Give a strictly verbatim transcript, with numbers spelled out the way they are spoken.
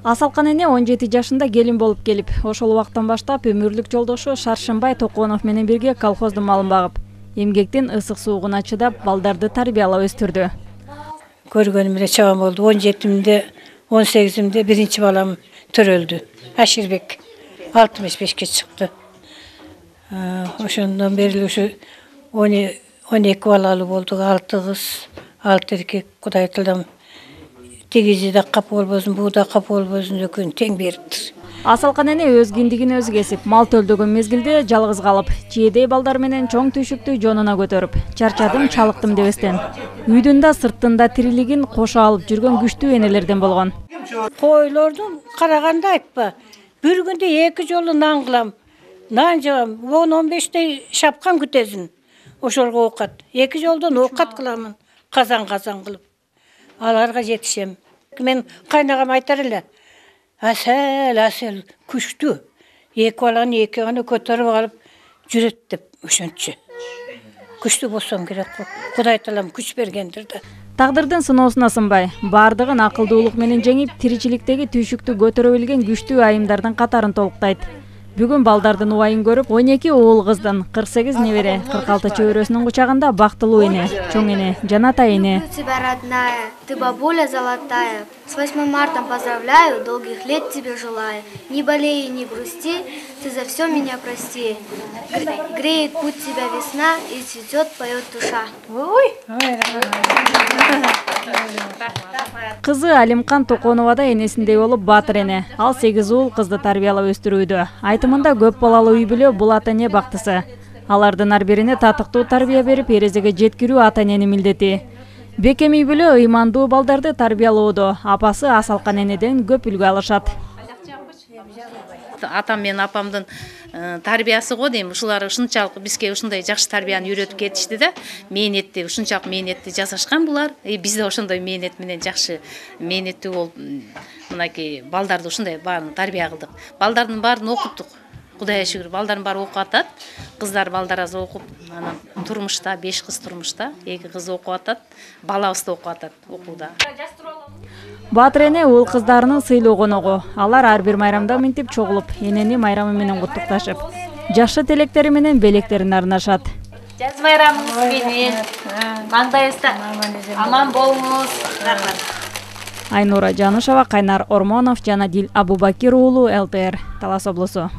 Асалкан эне он жети жашында келин болуп келип, ошол убактан баштап өмүрлүк жолдошу Шаршымбай Токонов менен бирге колхоздун малын багып, эмгектин ысык суугуна чыдап, балдарды тарбиялап өстүрдү. Көргөнүм эле чабан болду. он жетимде, он сегизимде биринчи балам төрөлдү. Аширбек алтымыш бешке чыкты. Ошондон бери ушу он эки балалуу болдук, алты кыз, алты эркек. Кудай тылдам тигизи да кап болбосун, буу да кап болбосун, экөөнү тең бериптир. Асалкан эне өз киндигин өзү кесип, мал төлдөгөн мезгилде жалгыз калып, чийдей балдар менен чоң түйшүктү жонуна көтөрүп, чарчадым, чалыктым дебестен, үйдүн да сырттын да тирилигин кошо алып жүргөн күчтүү энелерден болгон. Койлордун караганда айтпа, бир күндө эки жолу нан кылам. Нан жабам, он он бештей шапкан күтөсүн. Ошолго оокат. Эки жолдон оокат кыламын, казан-казан кылып. Аларга жетишем. Мен кайнагам айтар эле. Асел, асел, күчтүү. Эки баланы эки гана көтөрүп алып жүрөт деп ошончу. Күчтүү болсом керек го. Кудай таалам күч бергендир да. Тагдырдын сыноосуна сынбай, бардыгын акылдуулук менен жеңип, тиричиликтеги түйшүктү көтөрө билген күчтүү айымдардын катарын толуктайт. Бүгүн балдардын убайын көрүп, он эки уул кыздын, кырк сегиз небере, кырк алты чөбөрөсүнүн кучагында бактылуу эне, чоң эне, Жанатай эне. Тебя родная, ты бабуля золотая. С восьмым мартом поздравляю, долгих лет тебе желаю. Не болей и не грусти, ты за все меня прости. Греет путь тебя весна, и цветет, поет душа. Кызы Алимкан Токонова да энесиндей болуп баатыр эне. Ал сегиз уул кызды тарбиялап өстүрүүдө. Айтымында көп балалуу үй бүлө бул ата эне бактысы. Алардын ар бирине татыктуу тарбия берип, эрезеге жеткирүү ата эненин милдети. Бекем үй бүлө ыймандуу балдарды тарбиялоодо апасы Асалкан энеден көп үлгү алышат. Атам менен апамдын тарбиясы го дейм. Ушулар ушунчалык бизге ушундай жакшы тарбияны үйрөтүп кетишти да. Мээнетти, ушунчалык мээнетти жасашкан булар. Биз да ошондой мээнет менен жакшы мээнеттүү болуп, мынакей балдарды ушундай баарын тарбия кылдык. Балдардын баарын окуттук. Кудайга шүгүр, балдардын баары окуп атат. Кыздар балдар аз окуп, анан турмушта, беш кыз турмушта, эки кыз окуп атат. Балабыз да окуп атат окууда. Баатыр эне уул кыздарынын сыйлуу коногу. Алар ар бир майрамда минтип чогулуп, энени майрамы менен куттукташып, жакшы тилектери менен белектерин арнашат. Жаз майрамыңыз менен, маңдайыңызда аман болуңуз. Айнура Жанышева, Кайнар Ормонов, Жанадил Абубакир уулу, эл тэ эр, Талас облусу.